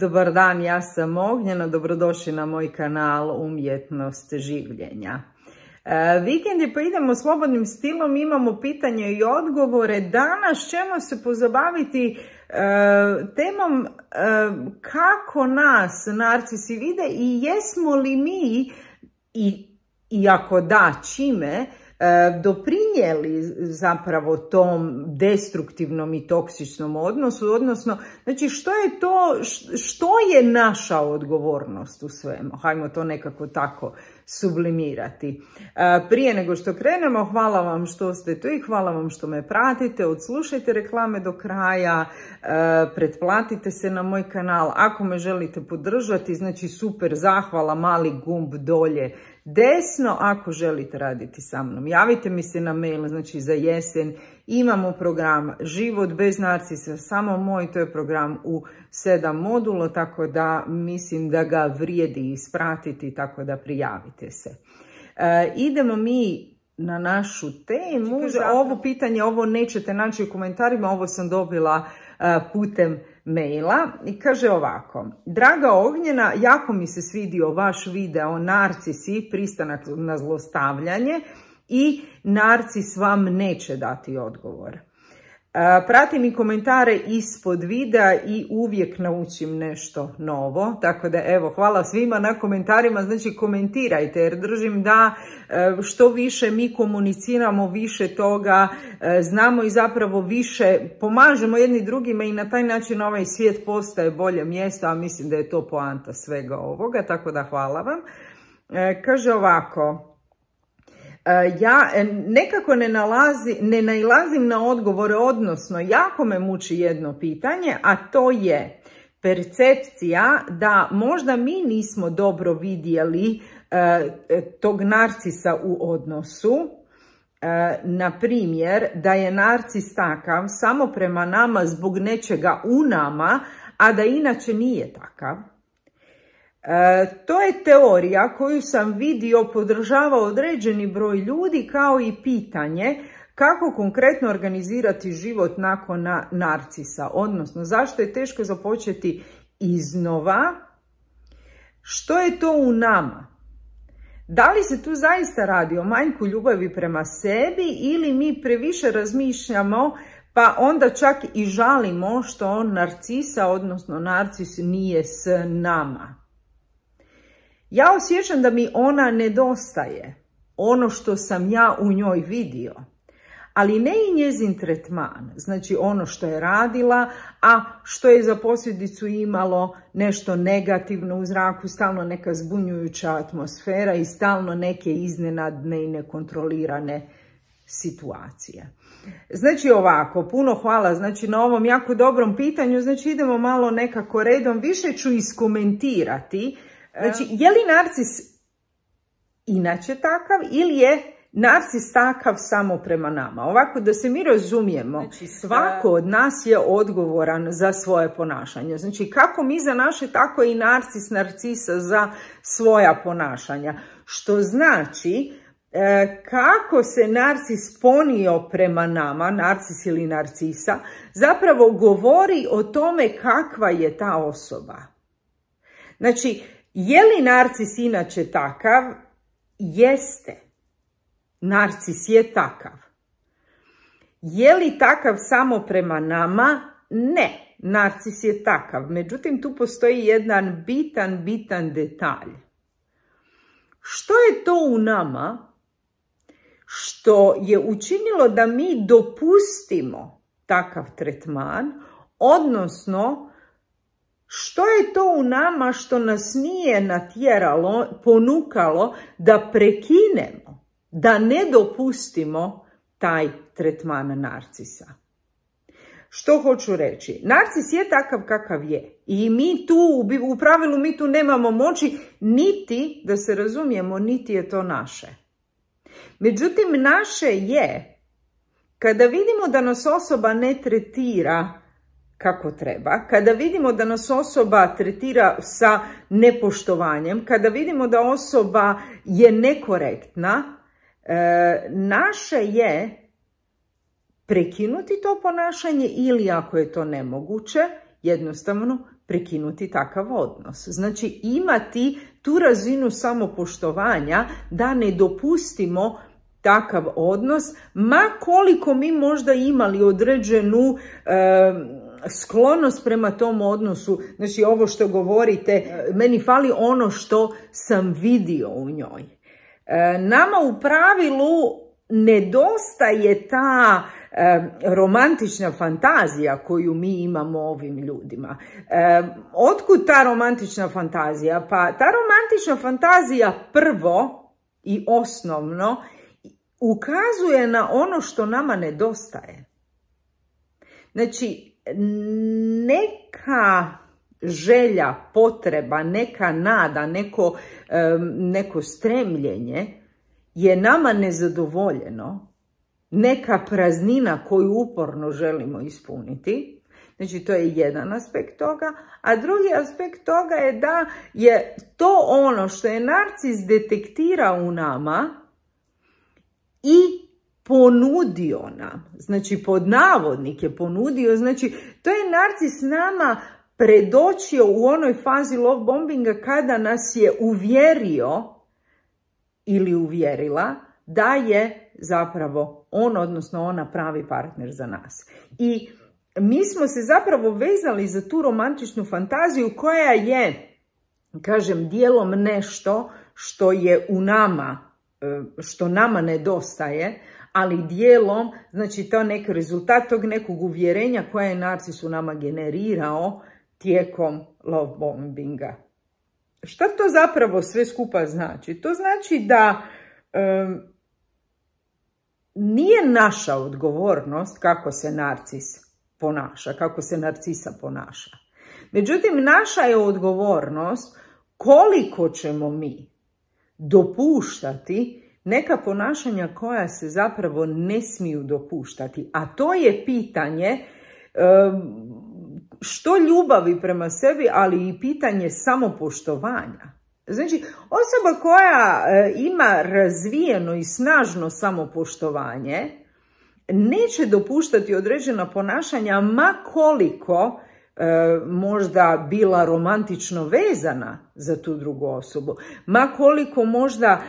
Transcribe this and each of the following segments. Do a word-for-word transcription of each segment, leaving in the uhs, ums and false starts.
Dobar dan, ja sam Ognjena, dobrodošli na moj kanal Umjetnost življenja. E, vikend je, pa idemo slobodnim stilom, imamo pitanje i odgovore. Danas ćemo se pozabaviti e, temom e, kako nas narcisi vide i jesmo li mi, i, i ako da, čime, doprinijeli zapravo tom destruktivnom i toksičnom odnosu, odnosno, znači što je to, što je naša odgovornost u svemu, hajmo to nekako tako sublimirati. Prije nego što krenemo, hvala vam što ste tu i hvala vam što me pratite, odslušajte reklame do kraja, pretplatite se na moj kanal, ako me želite podržati, znači super, zahvala, mali gumb dolje desno, ako želite raditi sa mnom. Javite mi se na mail, znači za jesen imamo program Život bez narcisa, samo moj, to je program u sedam modula, tako da mislim da ga vrijedi ispratiti, tako da prijavite se. E, idemo mi na našu temu. Ovo pitanje, ovo nećete naći u komentarima, ovo sam dobila e, putem maila i kaže ovako: Draga Ognjena, jako mi se svidio vaš video narcisi, pristanak na zlostavljanje i narcis vam neće dati odgovor. Pratim i komentare ispod videa i uvijek naučim nešto novo, tako da evo, hvala svima na komentarima, znači komentirajte jer držim da što više mi komuniciramo, više toga znamo i zapravo više pomažemo jedni drugima i na taj način ovaj svijet postaje bolje mjesto, a mislim da je to poanta svega ovoga, tako da hvala vam. Kaže ovako: ja nekako ne, nalazi, ne nailazim na odgovore, odnosno jako me muči jedno pitanje, a to je percepcija da možda mi nismo dobro vidjeli e, tog narcisa u odnosu. E, na primjer, da je narcis takav samo prema nama zbog nečega u nama, a da inače nije takav. E, to je teorija koju sam vidio podržava određeni broj ljudi, kao i pitanje kako konkretno organizirati život nakon na narcisa, odnosno zašto je teško započeti iznova, što je to u nama, da li se tu zaista radi o manjku ljubavi prema sebi ili mi previše razmišljamo pa onda čak i žalimo što narcisa, odnosno narcis nije s nama. Ja osjećam da mi ona nedostaje, ono što sam ja u njoj vidio, ali ne i njezin tretman, znači ono što je radila, a što je za posljedicu imalo nešto negativno u zraku, stalno neka zbunjujuća atmosfera i stalno neke iznenadne i nekontrolirane situacije. Znači ovako, puno hvala znači na ovom jako dobrom pitanju, znači idemo malo nekako redom, više ću iskomentirati. Znači, je li narcis inače takav ili je narcis takav samo prema nama? Ovako, da se mi razumijemo, znači, svako od nas je odgovoran za svoje ponašanje. Znači, kako mi za naše, tako i narcis, narcisa za svoja ponašanja. Što znači, kako se narcis ponio prema nama, narcis ili narcisa, zapravo govori o tome kakva je ta osoba. Znači, je li narcis inače takav? Jeste. Narcis je takav. Je li takav samo prema nama? Ne. Narcis je takav. Međutim, tu postoji jedan bitan, bitan detalj. Što je to u nama što je učinilo da mi dopustimo takav tretman, odnosno što je to u nama što nas nije natjeralo, ponukalo da prekinemo, da ne dopustimo taj tretman narcisa? Što hoću reći? Narcis je takav kakav je i mi tu, u pravilu mi tu nemamo moći, niti, da se razumijemo, niti je to naše. Međutim, naše je kada vidimo da nas osoba ne tretira kako treba, kada vidimo da nas osoba tretira sa nepoštovanjem, kada vidimo da osoba je nekorektna, e, naše je prekinuti to ponašanje ili, ako je to nemoguće, jednostavno prekinuti takav odnos. Znači imati tu razinu samopoštovanja da ne dopustimo takav odnos, ma koliko mi možda imali određenu e, sklonost prema tom odnosu. Znači ovo što govorite, meni fali ono što sam vidio u njoj. E, nama u pravilu nedostaje ta e, romantična fantazija koju mi imamo ovim ljudima. E, otkud ta romantična fantazija? Pa ta romantična fantazija prvo i osnovno ukazuje na ono što nama nedostaje. Znači, neka želja, potreba, neka nada, neko, neko stremljenje je nama nezadovoljeno, neka praznina koju uporno želimo ispuniti. Znači, to je jedan aspekt toga. A drugi aspekt toga je da je to ono što je narcis detektirao u nama i ponudio nam, znači pod navodnike ponudio, znači to je narcis nama predočio u onoj fazi love bombinga kada nas je uvjerio ili uvjerila da je zapravo on, odnosno ona, pravi partner za nas. I mi smo se zapravo vezali za tu romantičnu fantaziju koja je, kažem, dijelom nešto što je u nama, što nama nedostaje, ali dijelom, znači to neki rezultat tog nekog uvjerenja koje je narcis u nama generirao tijekom love bombinga. Šta to zapravo sve skupa znači? To znači da um, nije naša odgovornost kako se narcis ponaša, kako se narcisa ponaša. Međutim, naša je odgovornost koliko ćemo mi dopuštati neka ponašanja koja se zapravo ne smiju dopuštati. A to je pitanje što ljubavi prema sebi, ali i pitanje samopoštovanja. Znači, osoba koja ima razvijeno i snažno samopoštovanje neće dopuštati određena ponašanja, ma koliko možda bila romantično vezana za tu drugu osobu, ma koliko možda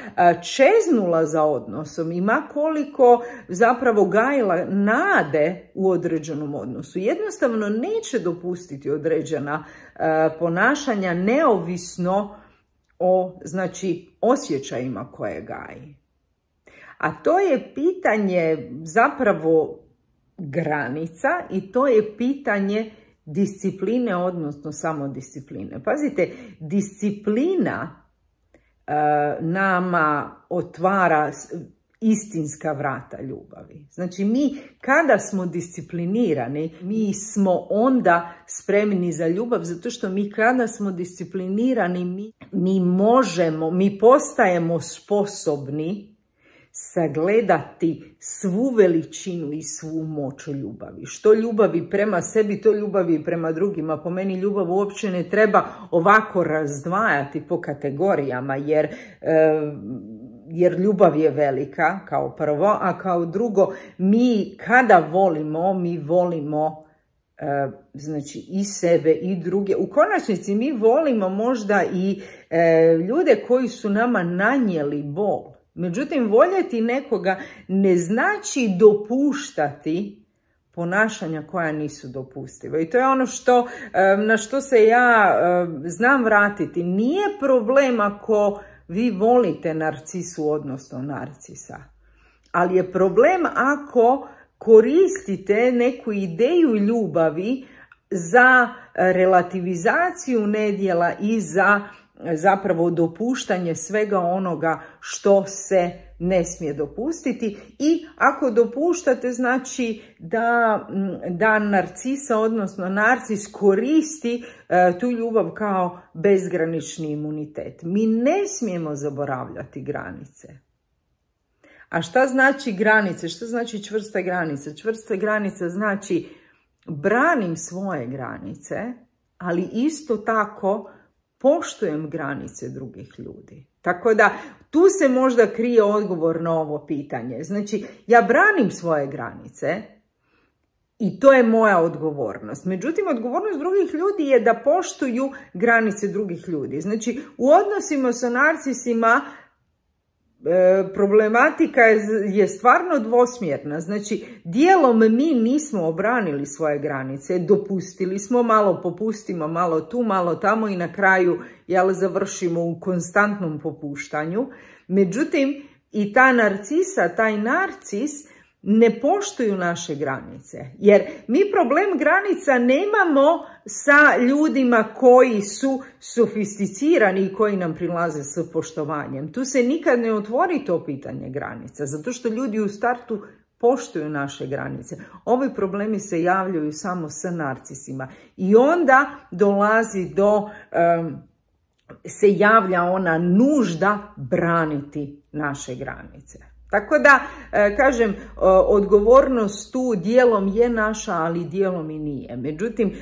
čeznula za odnosom i ma koliko zapravo gajila nade u određenom odnosu. Jednostavno neće dopustiti određena ponašanja neovisno o, znači, osjećajima koje gaji. A to je pitanje zapravo granica i to je pitanje discipline, odnosno samodiscipline. Pazite, disciplina e, nama otvara istinska vrata ljubavi. Znači, mi kada smo disciplinirani, mi smo onda spremni za ljubav, zato što mi kada smo disciplinirani, mi, mi možemo, mi postajemo sposobni sagledati svu veličinu i svu moć ljubavi. Što ljubavi prema sebi, to ljubavi prema drugima. Po meni ljubav uopće ne treba ovako razdvajati po kategorijama, jer, e, jer ljubav je velika kao prvo, a kao drugo, mi kada volimo, mi volimo e, znači i sebe i druge. U konačnici mi volimo možda i e, ljude koji su nama nanijeli bol. Međutim, voljeti nekoga ne znači dopuštati ponašanja koja nisu dopustiva. I to je ono što, na što se ja znam vratiti. Nije problem ako vi volite narcisu, odnosno narcisa. Ali je problem ako koristite neku ideju ljubavi za relativizaciju nedjela i za zapravo dopuštanje svega onoga što se ne smije dopustiti. I ako dopuštate, znači da, da narcisa, odnosno narcis koristi uh, tu ljubav kao bezgranični imunitet. Mi ne smijemo zaboravljati granice. A šta znači granice? Šta znači čvrste granice? Čvrste granice znači branim svoje granice, ali isto tako poštujem granice drugih ljudi. Tako da tu se možda krije odgovor na ovo pitanje. Znači, ja branim svoje granice I to je moja odgovornost. Međutim, odgovornost drugih ljudi je da poštuju granice drugih ljudi. Znači, u odnosima sa narcisima e, problematika je, je stvarno dvosmjerna. Znači, dijelom mi nismo obranili svoje granice, dopustili smo, malo popustimo, malo tu, malo tamo i na kraju jel, završimo u konstantnom popuštanju. Međutim, i ta narcisa, taj narcis ne poštuju naše granice. Jer mi problem granica nemamo sa ljudima koji su sofisticirani i koji nam prilaze s poštovanjem. Tu se nikad ne otvori to pitanje granica, zato što ljudi u startu poštuju naše granice. Ovi problemi se javljaju samo sa narcisima. I onda dolazi do... Um, se javlja ona nužda braniti naše granice. Tako da, kažem, odgovornost tu dijelom je naša, ali dijelom i nije. Međutim,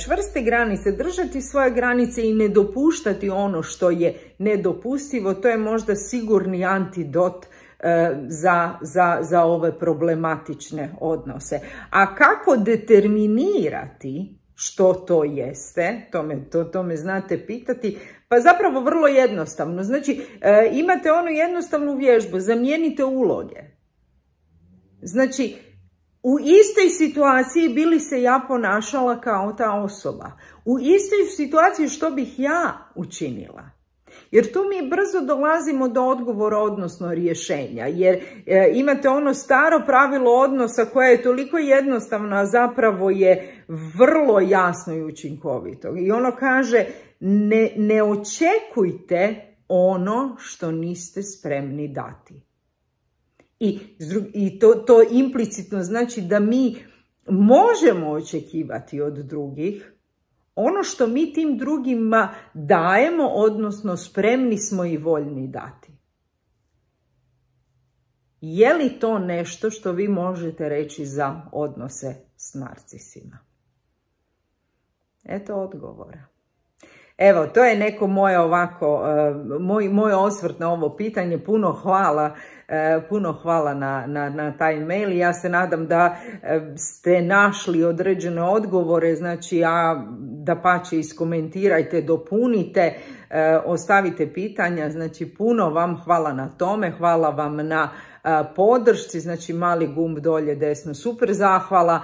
čvrste granice, držati svoje granice i ne dopuštati ono što je nedopustivo, to je možda sigurni antidot za, za, za ove problematične odnose. A kako determinirati što to jeste, to me, to, to me znate pitati, pa zapravo vrlo jednostavno. Znači, e, imate onu jednostavnu vježbu, zamijenite uloge. Znači, u istoj situaciji bi li se ja ponašala kao ta osoba? U istoj situaciji što bih ja učinila? Jer tu mi brzo dolazimo do odgovora, odnosno rješenja. Jer e, imate ono staro pravilo odnosa koje je toliko jednostavno, a zapravo je vrlo jasno i učinkovito. I ono kaže, ne, ne očekujte ono što niste spremni dati. I, i to, to implicitno znači da mi možemo očekivati od drugih ono što mi tim drugima dajemo, odnosno spremni smo i voljni dati. Je li to nešto što vi možete reći za odnose s narcisima? Eto odgovora. Evo, to je neko moje ovako, moj, moj osvrt na ovo pitanje. Puno hvala, puno hvala na, na, na taj mail. Ja se nadam da ste našli određene odgovore, znači a dapače iskomentirajte, dopunite, ostavite pitanja. Znači puno vam hvala na tome, hvala vam na podršci, znači mali gumb dolje desno, super zahvala.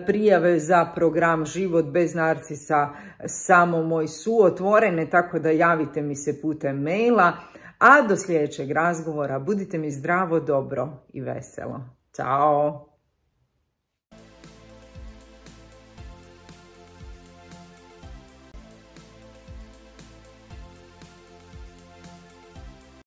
Prijave za program Život bez narcisa samo moj su otvorene, tako da javite mi se putem maila. A do sljedećeg razgovora budite mi zdravo, dobro i veselo. Ćao!